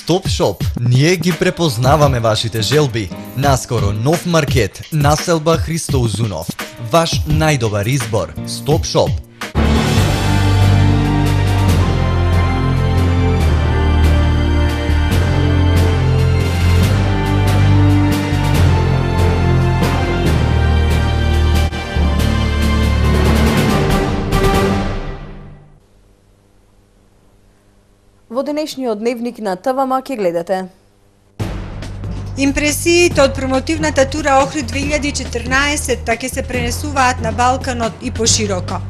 Стоп Шоп. Ние ги препознаваме вашите желби. Наскоро нов маркет, населба Христо Узунов. Ваш најдобар избор. Стоп Шоп. Во денешниот дневник на ТВМ ќе гледате. Импресиите од промотивната тура Охрид 2014 ќе се пренесуваат на Балканот и пошироко.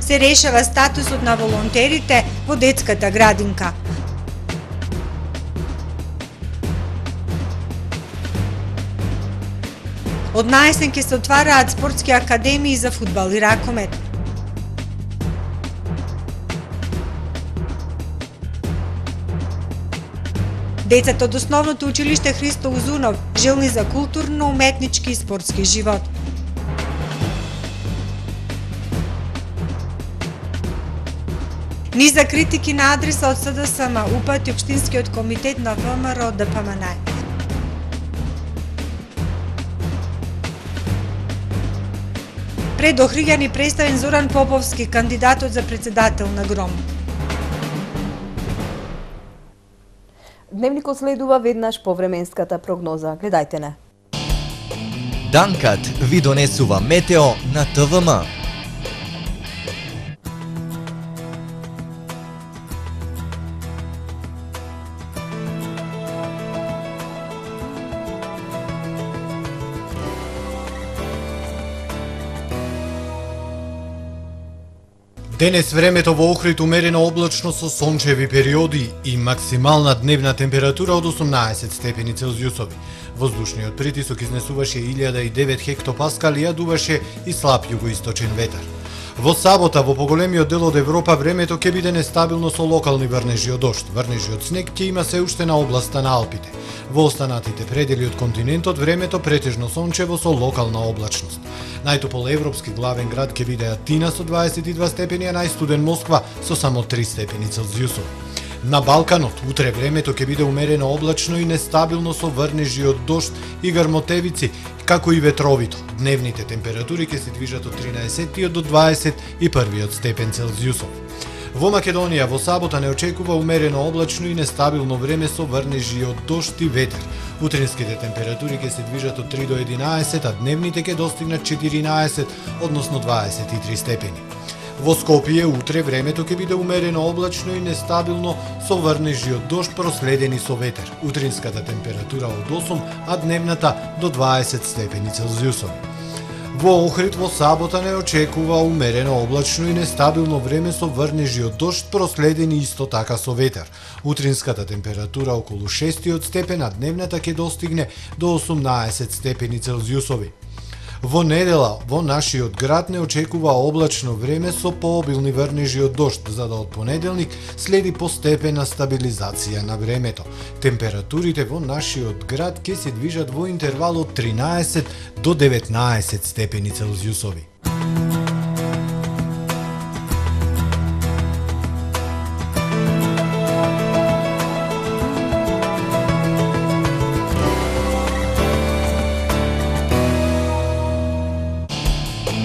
Се решава статусот на волонтерите во детската градинка. Од наесен ќе се отвараат спортски академии за фудбал и ракомет. Децата од основното училиште Христо Узунов желни за културно-уметнички и спортски живот. Низа критики на адреса од СДСМ упати Општинскиот комитет на ВМРО ДПМН. Пред Охриѓани представен Зоран Поповски, кандидатот за председател на ГРОМ. Дневникот следува веднаш по временската прогноза. Гледајте не. Данкат ви донесува метео на ТВМ. Денес времето во Охрид умерено облачно со сончеви периоди и максимална дневна температура од 18 степени Целзиусови. Воздушниот притисок изнесуваше 1009 хектопаскали и дуваше и слаб југоисточен ветар. Во сабота во поголемиот дел од Европа времето ќе биде нестабилно со локални врнежи од дожд. Врнежи од снег ќе има се уште на областа на Алпите. Во останатите предели од континентот времето претежно сончево со локална облачност. Најтопол европски главен град ќе биде Атина со 22 степени, а најстуден Москва со само 3 степени Целзиусови. На Балканот утре времето ќе биде умерено облачно и нестабилно со врнежи од дожд и грмотевици, како и ветровито. Дневните температури ќе се движат од 13 до 21 степен Целзиусов. Во Македонија во сабота не очекува умерено облачно и нестабилно време со врнежи од дожд и ветер. Утринските температури ќе се движат од 3 до 11, а дневните ќе достигнат 14, односно 23 степени. Во Скопје утре времето ќе биде умерено облачно и нестабилно со врнежи од дожд проследени со ветер. Утринската температура од 8, а дневната до 20 степени Целзиусови. Во Охрид во сабота не очекува умерено облачно и нестабилно време со врнежи од дожд проследени исто така со ветер. Утринската температура околу 6 степен, а дневната ќе достигне до 18 степени Целзиусови. Во недела во нашиот град не очекува облачно време со пообилни врнежи од дожд, за да од понеделник следи постепена стабилизација на времето. Температурите во нашиот град ќе се движат во интервал од 13 до 19 степени Целзиусови.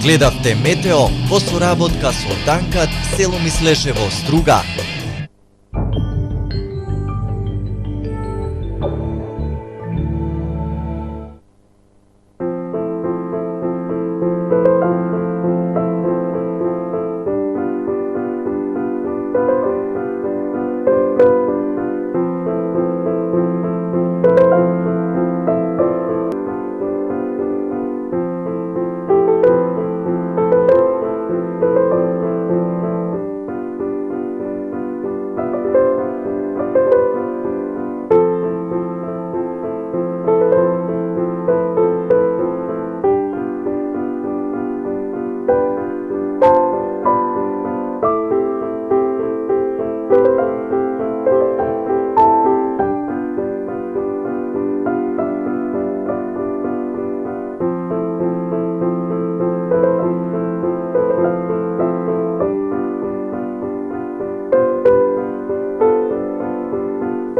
Гледавте метео во соработка со Данкат, село Мислешево, Струга.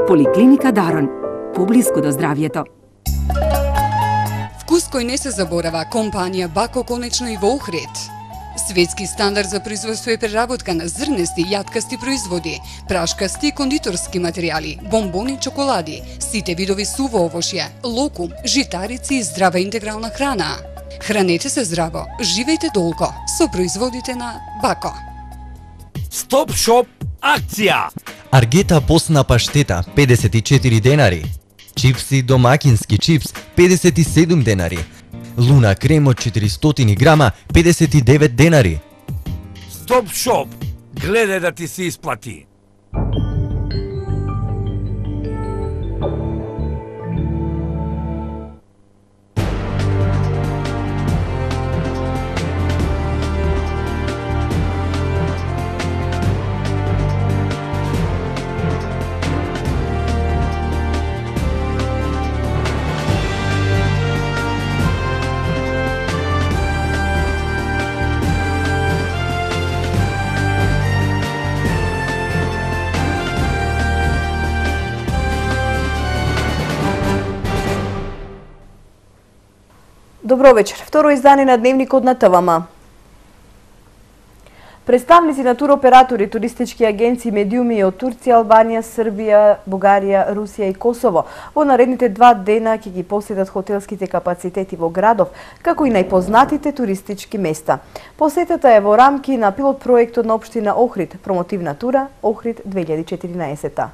Поликлиника Дарон. Поблиску до здравјето. Вкус кој не се заборава, компанија Бако конечно и во Охрид. Светски стандард за производство и преработка на зрнести и јаткасти производи, прашкасти и кондиторски материјали, бомбони и чоколади, сите видови суво овошје, локум, житарици и здрава интегрална храна. Хранете се здраво, живејте долго со производите на Бако. Стоп шоп акција. Аргета постна паштета 54 денари. Чипси домакински чипс 57 денари. Луна крем од 400 грама 59 денари. Стоп шоп. Гледај да ти се исплати. Добро вечер. Второ издание на Дневникот на ТВМ. Представници на туроператори, туристички агенции, медиуми од Турција, Албанија, Србија, Бугарија, Русија и Косово во наредните 2 дена ќе ги посетат хотелските капацитети во градов, како и најпознатите туристички места. Посетата е во рамки на пилот проектот на општина Охрид, промотивна тура Охрид 2014.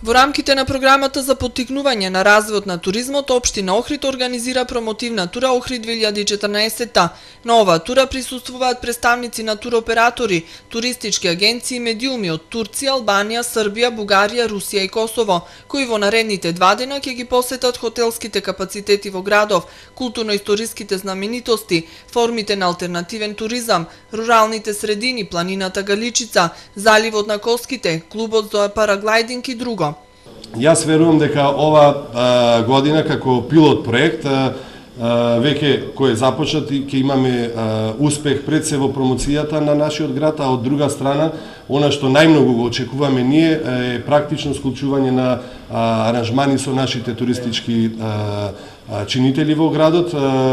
Во рамките на програмата за поттикнување на развојот на туризмот, општина Охрид организира промотивна тура Охрид 2014. На оваа тура присуствуваат представници на туроператори, туристички агенции и медиуми од Турција, Албанија, Србија, Бугарија, Русија и Косово, кои во наредните 2 дена ќе ги посетат хотелските капацитети во градов, културно-историските знаменитости, формите на алтернативен туризам, руралните средини, планината Галичица, заливот на Коските, клубот за параглайдинг и друго. Јас верувам дека ова година како пилот проект веќе кој е започнат и ќе имаме успех пред се во промоцијата на нашиот град, а од друга страна, она што најмногу го очекуваме ние е практично склучување на аранжмани со нашите туристички чинители во градот.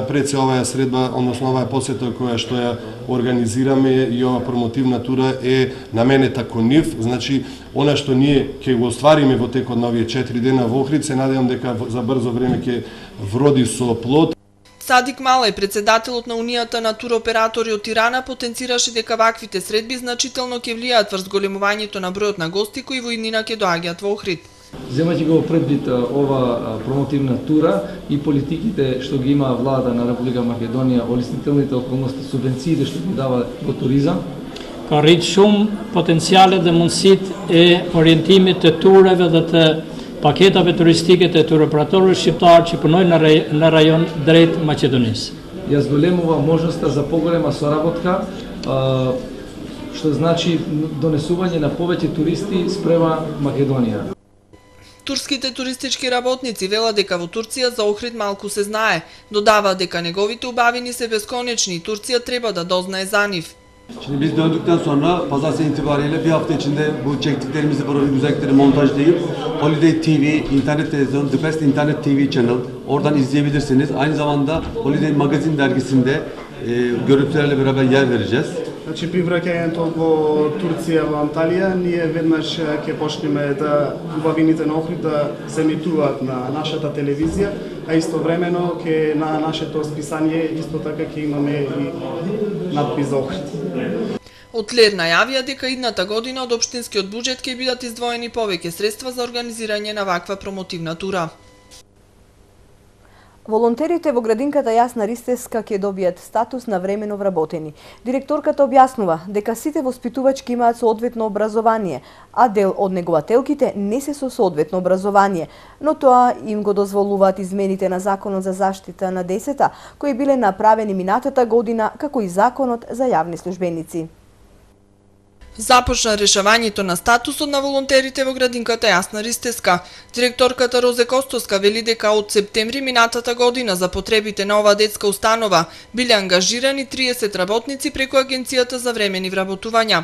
Пред се оваа средба, односно оваа посета која што ја организираме и ова промотивна тура е на мене тако нив, значи она што ние ќе го оствариме во текот на овие 4 дена во Охрид, се надевам дека за брзо време ќе вроди со плод. Садик Малај, председателот на Унијата на туроператори од Тирана, потенцираше дека ваквите средби значително ќе влијаат врз големувањето на бројот на гости кои во иднина ќе доаѓаат во Охрид. Земајќи го предвид ова промотивна тура и политиките што ги има влада на Република Македонија, олеснителните околности, субвенциите што ги дава во туризам, ka rrit shumë potencialet dhe mundësit e orientimit të tureve dhe të paketave turistike të turoperatorëve shqiptar që punojnë në rajon drejt Maqedonisë. Ја зголемува можноста за поголема соработка, што значи донесување на повеќе туристи спрема Македонија. Турските туристички работници велат дека во Турција за Охрид малку се знае. Dodavaат дека неговите убавини се бесконечни и Турција треба да дознае за нив. Şimdi biz döndükten sonra pazartesi itibariyle bir hafta içinde bu çektiklerimizi, buranın güzellikleri montajlayıp Holiday TV, internet televizyon, The Best Internet TV Channel, oradan izleyebilirsiniz. Aynı zamanda Holiday Magazine dergisinde görüntülerle beraber yer vereceğiz. Значи при враќањето во Турција во Анталија, ние веднаш ќе почнеме да убавините на Охрид да се емитуваат на нашата телевизија, а истовремено ќе на нашето списание исто така ќе имаме и надпис за Охрид. Од Лер најавија дека идната година од општинскиот буџет ќе бидат издвоени повеќе средства за организирање на ваква промотивна тура. Волонтерите во градинката Јасна Ристевска ќе добијат статус на времено вработени. Директорката објаснува дека сите воспитувачки имаат соодветно образование, а дел од негователките не се со соодветно образование, но тоа им го дозволуваат измените на Законот за заштита на децата, кои биле направени минатата година, како и Законот за јавни службеници. Започна решавањето на статусот на волонтерите во градинката Јасна Ристеска. Директорката Розе Костоска вели дека од септември минатата година за потребите на оваа детска установа биле ангажирани 30 работници преку Агенцијата за времени вработувања.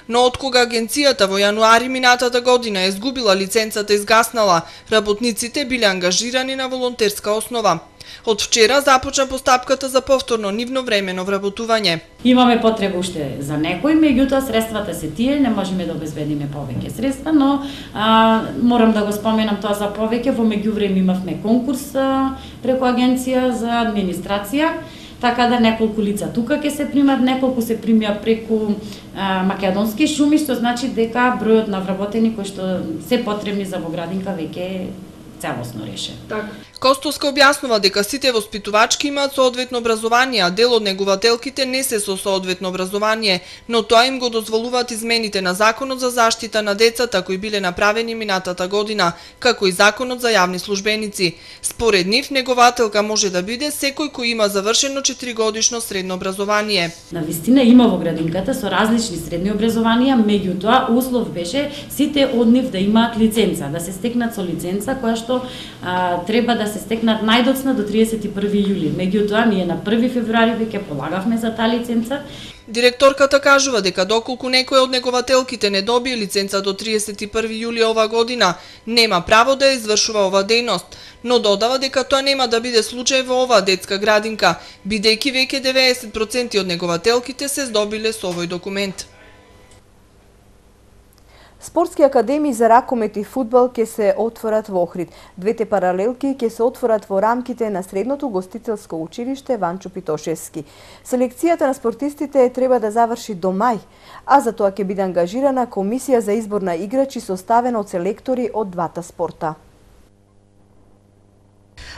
Но откога агенцијата во јануари минатата година е изгубила лиценцата и изгаснала, работниците биле ангажирани на волонтерска основа. Од вчера започна постапката за повторно нивно времено вработување. Имаме потреба уште за некој, меѓутоа средствата се тие, не можеме да обезбедиме повеќе средства, но морам да го споменам тоа за повеќе. Во меѓувреме имавме конкурс преку агенција за администрација, така да неколку лица тука ќе се примат, неколку се примија преку македонски шуми, што значи дека бројот на вработени кои што се потребни за во градинка веќе целосно решен. Костоска објаснува дека сите воспитувачки имаат соодветно образование, а дел од негувателките не се со соодветно образование, но тоа им го дозволуваат измените на Законот за заштита на децата кои биле направени минатата година, како и Законот за јавни службеници. Според нив, негувателка може да биде секој кој има завршено 4-годишно средно образование. Навистина има во градинката со различни средни образованија, меѓутоа услов беше сите од нив да имаат лиценца, да се стекнат со лиценца која што треба да се стекнат најдоцна до 31 јули. Меѓутоа, ние на 1 февруари веќе полагавме за таа лиценца. Директорката кажува дека доколку некој од негователките не добие лиценца до 31 јули ова година, нема право да ја извршува оваа дејност, но додава дека тоа нема да биде случај во оваа детска градинка, бидејќи веќе 90% од негователките се здобиле со овој документ. Спортски академии за ракомет и фудбал ќе се отворат во Охрид. Двете паралелки ќе се отворат во рамките на Средното гостителско училиште Ванчо Питошевски. Селекцијата на спортистите треба да заврши до мај, а за тоа ќе биде ангажирана комисија за избор на играчи составена од селектори од двата спорта.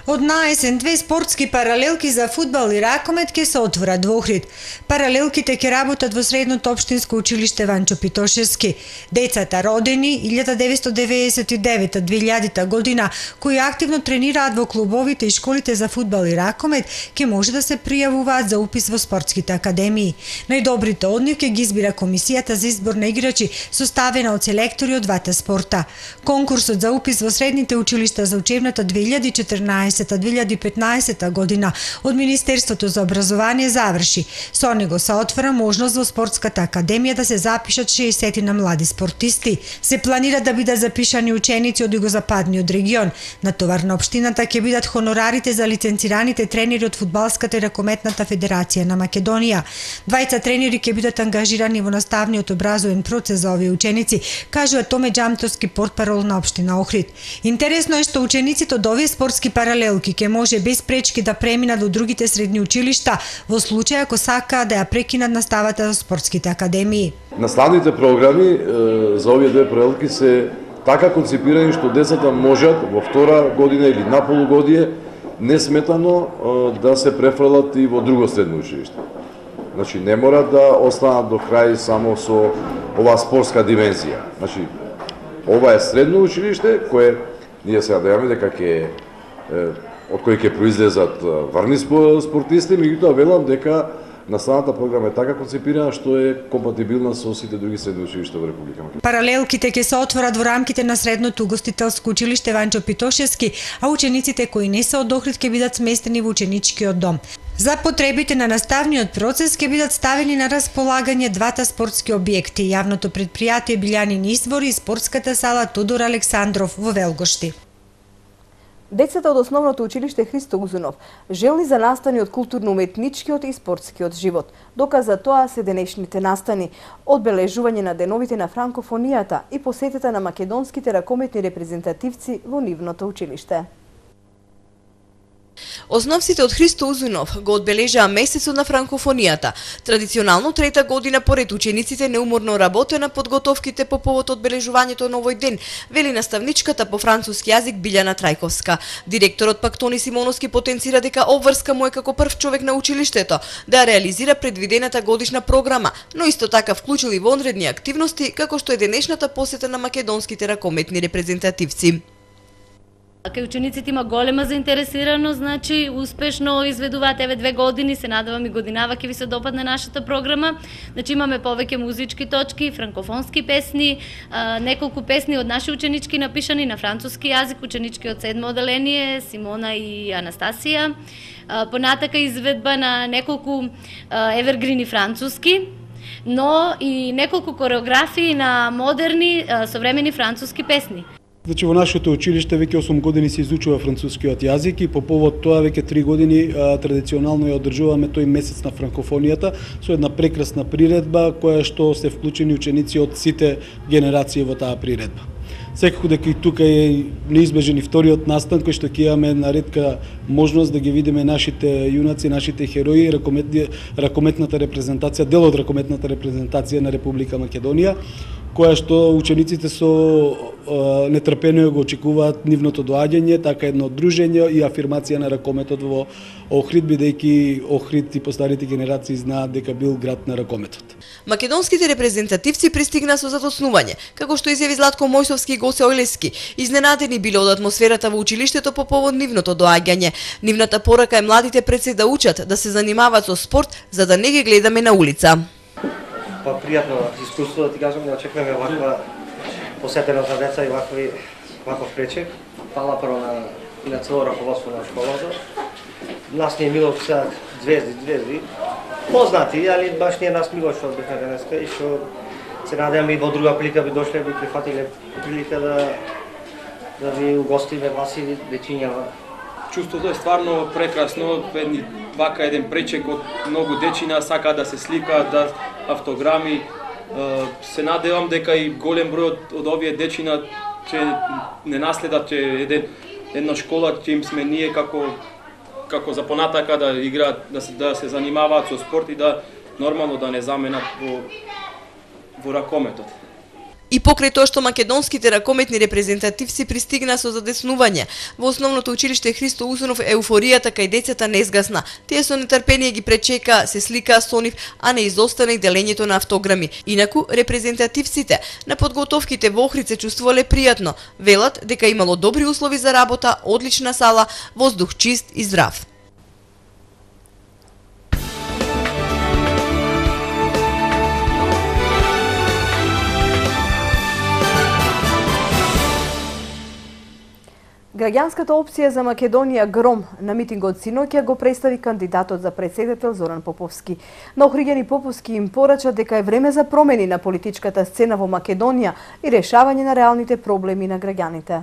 Од наесен две спортски паралелки за фудбал и ракомет ќе се отворат во Охрид. Паралелките ќе работат во Средното општинско училиште Ванчо Питошевски. Децата родени 1999-2000 година, кои активно тренираат во клубовите и школите за фудбал и ракомет, ќе може да се пријавуваат за упис во спортските академии. Најдобрите од нив ќе ги избира комисијата за избор на играчи, составена од селектори од двата спорта. Конкурсот за упис во средните училишта за учебната 2014-2015 година од Министерството за образование заврши. Со него се отвора можност во спортската академија да се запишат 60 на млади спортисти. Се планира да бидат запишани ученици од југозападниот регион. На товар на општината ќе бидат хонорарите за лиценцираните тренери од Фудбалската и ракометната федерација на Македонија. Двајца тренери ќе бидат ангажирани во наставниот образовен процес за овие ученици, кажува Томе Џамтовски, портпарол на општина Охрид. Интересно е што учениците од овие спортски паралелки ќе може без пречки да преминат во другите средни училишта во случај ако сакаат да ја прекинат наставата во спортските академии. Наставните програми за овие две паралелки се така концепирани што децата можат во втора година или на полугодие несметано да се префрлат и во друго средно училиште. Значи не мора да останат до крај само со оваа спортска димензија. Значи ова е средно училиште кое ние се надеваме дека ќе од кој ќе произлезат врни спортисти, меѓутоа велам дека наставната програма е така концепирана што е компатибилна со сите други средни училишта во Република Македонија. Паралелките ќе се отворат во рамките на Средното гостителско училиште Ванчо Питошевски, а учениците кои не се од Охрид ќе бидат сместени во ученичкиот дом. За потребите на наставниот процес ќе бидат ставени на располагање двата спортски објекти, јавното предпријатие Билјанин извор и спортската сала Тодор Александров во Велгошти. Децата од основното училиште Христо Узунов желни за настани од културно-уметничкиот и спортскиот живот. Доказ за тоа се денешните настани, одбележување на деновите на франкофонијата и посетата на македонските ракометни репрезентативци во нивното училиште. Основците од Христо Узунов го одбележаа месецот на франкофонијата. Традиционално трета година поред учениците неуморно работеа на подготовките по повод одбележувањето на овој ден, вели наставничката по француски јазик Билјана Трајковска. Директорот пак Тони Симоновски потенцира дека обврска му е како прв човек на училиштето да ја реализира предвидената годишна програма, но исто така вклучил и вонредни активности како што е денешната посета на македонските ракометни репрезентативци. Кај учениците има голема заинтересираност, значи успешно изведуваат, еве 2 години, се надевам и годинава ќе ви се допадне нашата програма. Значи имаме повеќе музички точки, франкофонски песни, неколку песни од наши ученички напишани на француски јазик, ученички од 7 оделение, Симона и Анастасија. Понатака изведба на неколку евергрини француски, но и неколку кореографии на модерни, современи француски песни. Значи во нашето училиште веќе 8 години се изучува францускиот јазик и по повод тоа веќе 3 години традиционално ја одржуваме тој месец на франкофонијата со една прекрасна приредба која што се вклучени ученици од сите генерации во таа приредба. Секако дека и тука е неизбежен и вториот настан кој што ќе имаме на ретка можност да ги видиме нашите јунаци, нашите херои, ракометната репрезентација, дел од ракометната репрезентација на Република Македонија, која што учениците со нетрпение го очекуваат нивното доаѓање, така едно дружење и афирмација на ракометот во Охрид, бидејќи Охрид и постарите генерации знаат дека бил град на ракометот. Македонските репрезентативци пристигна со затоцнување, како што изјави Златко Мојсовски и Госе Ојлески. Изненадени биле од атмосферата во училиштето по повод нивното доаѓање. Нивната порака е младите пред се да учат, да се занимаваат со спорт, за да не ги гледаме на улица. Па пријатно искуство, да ти кажам, не очекуваме ваква посетеност на деца и ваков пречек. Фала прво на цело раководство на школата. Нас не е мило сега звезди, познати, али баш не е нас мило што бевме денеска и што се надеваме и во друга прилика би дошле, би прифатиле прилика да ви угостиме вас и дечињава. Чувството е стварно прекрасно, вака еден пречек од многу дечиња сака да се сликаат, да автограми. Се надевам дека и голем број од овие дечиња ќе не наследат, че една школа ќе им сме ние како за понатака да играат, да се занимаваат со спорт и да нормално да не заменат во ракометот. И покрај тоа што македонските ракометни репрезентативци пристигна со задеснување, во основното училиште Христо Узунов еуфоријата кај децата не изгасна. Тие со нетрпение ги пречека, се сликаа со нив, а не изостана и делењето на автограми. Инаку, репрезентативците на подготовките во Охрид се чувствувале пријатно. Велат дека имало добри услови за работа, одлична сала, воздух чист и здрав. Граѓанската опција за Македонија Гром на митингот синоќа го представи кандидатот за претседател Зоран Поповски. На Охриѓани Поповски им порача дека е време за промени на политичката сцена во Македонија и решавање на реалните проблеми на граѓаните.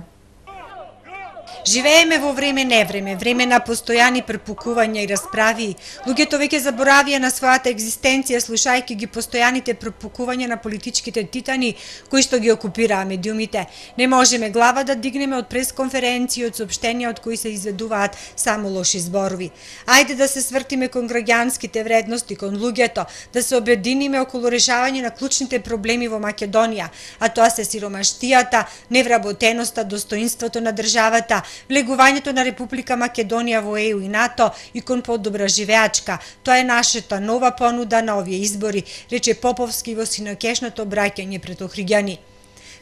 Живееме во време-невреме, време на постојани препукувања и расправи. Луѓето веќе заборавија на својата екзистенција слушајќи ги постојаните препукувања на политичките титани кои што ги окупираа медиумите. Не можеме глава да дигнеме од пресконференции, од соопштенија од кои се изведуваат само лоши зборови. Ајде да се свртиме кон граѓанските вредности, кон луѓето, да се обединиме околу решавање на клучните проблеми во Македонија, а тоа се сиромаштијата, невработеноста, достоинството на државата, влегувањето на Република Македонија во ЕУ и НАТО и кон подобра живеачка. Тоа е нашата нова понуда на овие избори, рече Поповски во синоќешното обраќање пред Охриѓани.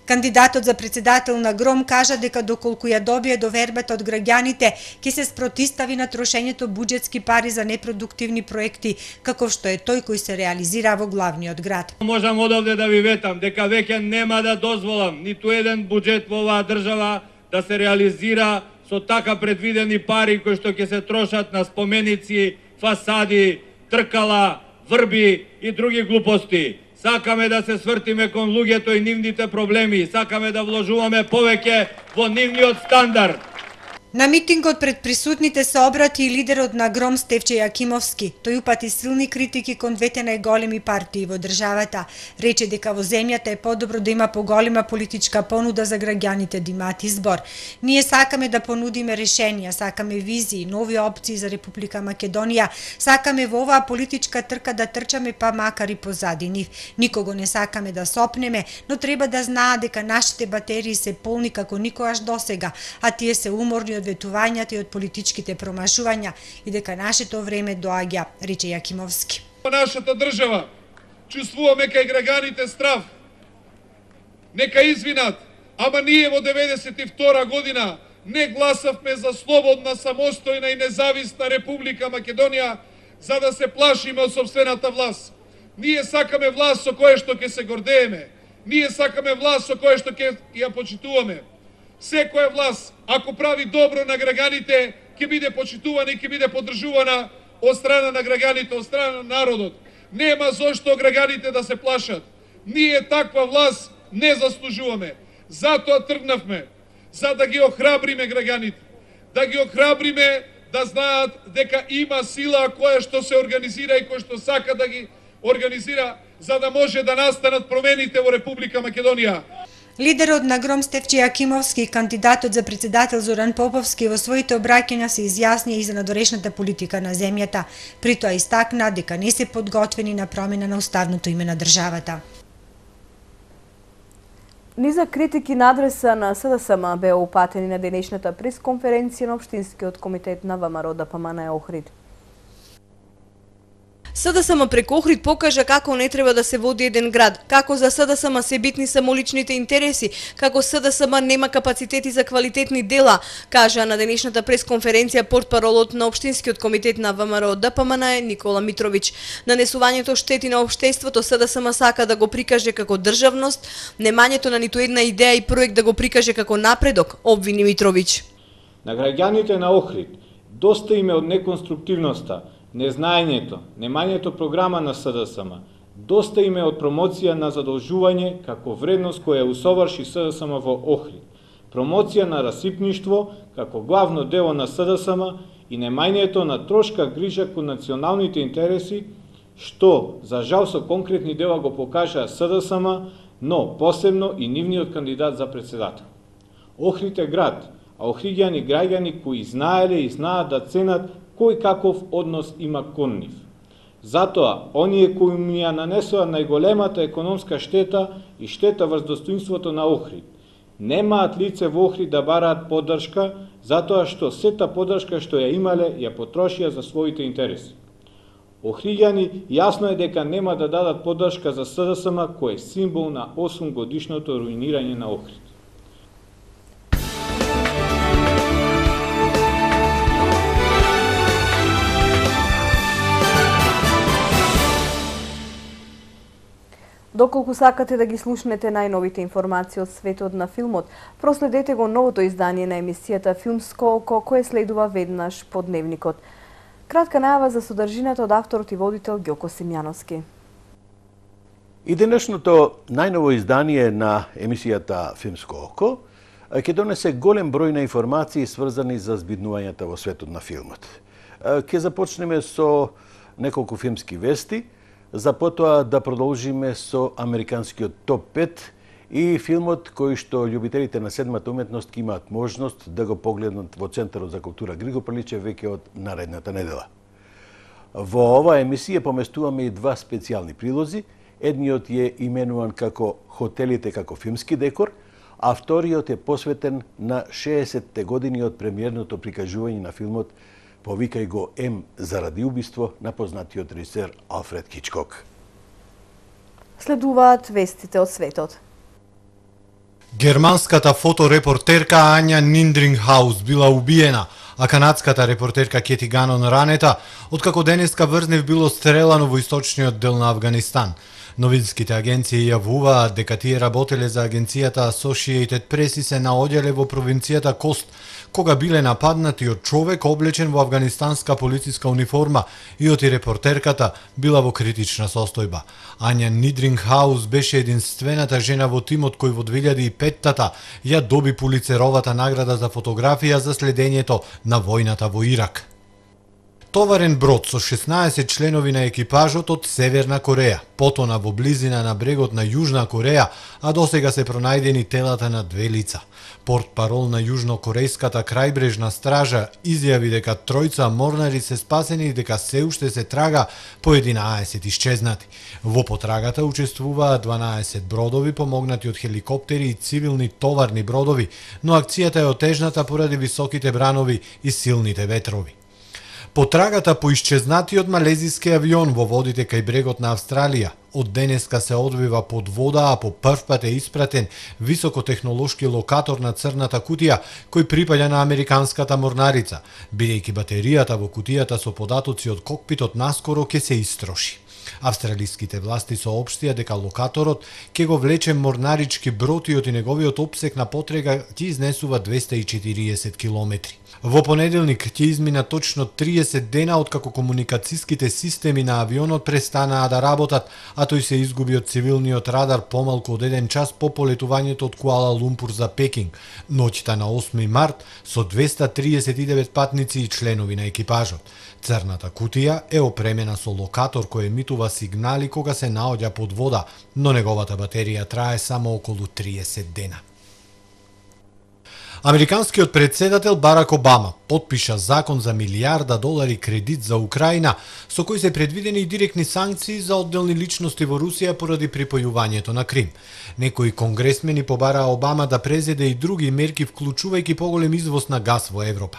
Кандидатот за претседател на Гром кажа дека доколку ја добие довербата од граѓаните, ќе се спротистави на трошењето буџетски пари за непродуктивни проекти, каков што е тој кој се реализира во главниот град. Можам одовде да ви ветам дека веќе нема да дозволам ниту еден буџет во оваа држава да се реализира со така предвидени пари кои што ќе се трошат на споменици, фасади, тркала, врби и други глупости. Сакаме да се свртиме кон луѓето и нивните проблеми, сакаме да вложуваме повеќе во нивниот стандард. На митингот пред присутните се обрати и лидерот на Гром Стефче Јакимовски. Тој упати силни критики кон двете најголеми партии во државата. Рече дека во земјата е подобро да има поголема политичка понуда за граѓаните да имаат избор. Ние сакаме да понудиме решенија, сакаме визии, нови опции за Република Македонија, сакаме во оваа политичка трка да трчаме па макар и позади нив. Никого не сакаме да сопнеме, но треба да знаат дека нашите батерии се полни како никогаш досега, а тие се уморни од ветувањата и од политичките промашувања и дека нашето време доаѓа, рече Јакимовски. Во нашата држава чувствуваме кај граѓаните страв. Нека извинат, ама ние во 92 година не гласавме за слободна, самостојна и независна Република Македонија за да се плашиме од сопствената власт. Ние сакаме власт со која што ќе се гордееме. Ние сакаме власт со која што ќе ја почитуваме. Секоја власт, ако прави добро на граѓаните, ќе биде почитувана и ќе биде поддржувана од страна на граѓаните, од страна на народот. Нема зошто граѓаните да се плашат. Ние таква власт не заслужуваме. Затоа тргнавме, за да ги охрабриме граѓаните, да ги охрабриме да знаат дека има сила која што се организира и која што сака да ги организира за да може да настанат промените во Република Македонија. Лидерот на Гром Стефче Јакимовски и кандидатот за председател Зоран Поповски во своите обраќања се изјаснија и за надорешната политика на земјата, при тоа истакна дека не се подготвени на промена на уставното име на државата. Низа критики на адреса на СДСМ беа упатени на денешната пресконференција на Општинскиот комитет на ВМРО ДПМН Охрид. СДСМ преку Охрид покажа како не треба да се води еден град, како за СДСМ се битни само личните интереси, како СДСМ нема капацитети за квалитетни дела, кажа на денешната пресконференција портпаролот на Општинскиот комитет на ВМРО ДПМН Никола Митровиќ. Нанесувањето штети на општеството СДСМ сака да го прикаже како државност, немањето на ниту една идеја и проект да го прикаже како напредок, обвини Митровиќ. На граѓаните на Охрид доста име од неконструктивноста, незнаењето, немањето програма на СДСМ, доста име од промоција на задолжување како вредност која усоврши СДСМ во Охрид, промоција на расипништво како главно дело на СДСМ и немањето на трошка грижа кон националните интереси, што за жал со конкретни дела го покажаа СДСМ, но посебно и нивниот кандидат за председател. Охрид е град, а охриѓани граѓани кои знаеле и знаат да ценат кој каков однос има кон нив. Затоа, оние кои ми ја нанесоа најголемата економска штета и штета врз достоинството на Охрид, немаат лице во Охрид да бараат поддршка, затоа што сета поддршка што ја имале ја потрошија за своите интереси. Охриѓани јасно е дека нема да дадат поддршка за СДСМ кој е символ на 8 годишното руинирање на Охрид. Доколку сакате да ги слушнете најновите информации од светот на филмот, проследете го новото издание на емисијата Филмско око, кое следува веднаш по дневникот. Кратка најава за содржината од авторот и водител Ѓоко Симјановски. И денешното најново издание на емисијата Филмско око ќе донесе голем број на информации сврзани за збиднувањата во светот на филмот. Ќе започнеме со неколку филмски вести, за потоа да продолжиме со американскиот топ 5 и филмот кој што љубителите на седмата уметност ќе имаат можност да го погледнат во Центарот за култура Григо Прличев веќе од наредната недела. Во оваа емисија поместуваме и два специјални прилози. Едниот е именуван како Хотелите како филмски декор, а вториот е посветен на 60-те години од премиерното прикажување на филмот Повикај го М заради убиство на познатиот режисер Алфред Хичкок. Следуваат вестите од светот. Германската фоторепортерка Ања Ниндрингхаус била убиена, а канадската репортерка Кети Ганон ранета, откако денеска врзнев било стрелано во источниот дел на Авганистан. Новинските агенции јавуваат дека тие работеле за агенцијата Associated Press и се наоѓале во провинцијата Кост, кога биле нападнати од човек облечен во афганистанска полициска униформа и оти репортерката била во критична состојба. Ања Ниндрингхаус беше единствената жена во тимот кој во 2005-та ја доби Пулицеровата награда за фотографија за следењето на војната во Ирак. Товарен брод со 16 членови на екипажот од Северна Кореја потона во близина на брегот на Јужна Кореја, а досега се пронајдени телата на две лица. Портпарол на јужнокорејската крајбрежна стража изјави дека тројца морнари се спасени и дека се уште се трага по 11 исчезнати. Во потрагата учествуваат 12 бродови помогнати од хеликоптери и цивилни товарни бродови, но акцијата е отежната поради високите бранови и силните ветрови. Потрагата по исчезнатиот малезиски авион во водите кај брегот на Австралија Од денеска се одвива под вода, а по прв пат е испратен високотехнолошки локатор на црната кутија, кој припаѓа на американската морнарица, бидејќи батеријата во кутијата со податоци од кокпитот наскоро ќе се истроши. Австралиските власти соопштија дека локаторот ќе го влече морнарички брод и од неговиот опсек на потрега ќе изнесува 240 километри. Во понеделник ќе измина точно 30 дена откако комуникацијските системи на авионот престанаа да работат, а тој се изгуби од цивилниот радар помалку од 1 час по полетувањето од Куала Лумпур за Пекинг, ноќта на 8 март со 239 патници и членови на екипажот. Црната кутија е опремена со локатор кој емитува сигнали кога се наоѓа под вода, но неговата батерија трае само околу 30 дена. Американскиот председател Барак Обама потпиша закон за $1.000.000 кредит за Украина, со кој се предвидени и директни санкции за одделни личности во Русија поради припојувањето на Крим. Некои конгресмени побараа Обама да презеде и други мерки, вклучувајќи поголем извоз на газ во Европа.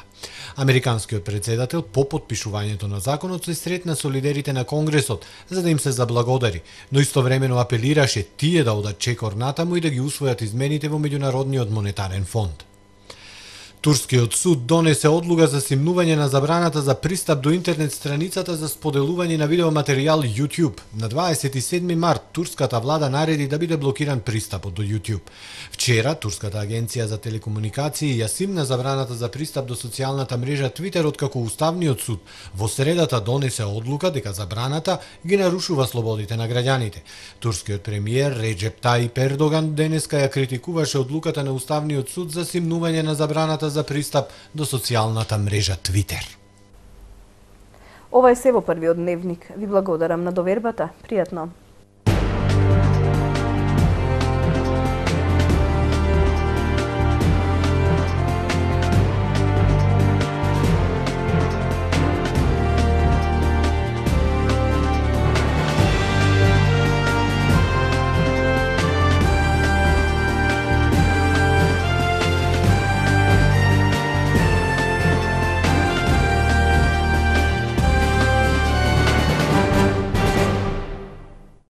Американскиот председател по потпишувањето на законот се сретна со лидерите на Конгресот за да им се заблагодари, но истовремено апелираше тие да одат чекор натаму и да ги усвојат измените во Меѓународниот монетарен фонд. Турскиот суд донесе одлука за симнување на забраната за пристап до интернет страницата за споделување на видеоматеријал YouTube. На 27 март турската влада нареди да биде блокиран пристапот до YouTube. Вчера турската агенција за телекомуникации ја симна забраната за пристап до социјалната мрежа Twitter, откако Уставниот суд во средата донесе одлука дека забраната ги нарушува слободите на граѓаните. Турскиот премиер Реджеп Таип Ердоган денеска ја критикуваше одлуката на Уставниот суд за симнување на забраната за пристап до социјалната мрежа Twitter. Ова е се во првиот дневник. Ви благодарам на довербата. Пријатно.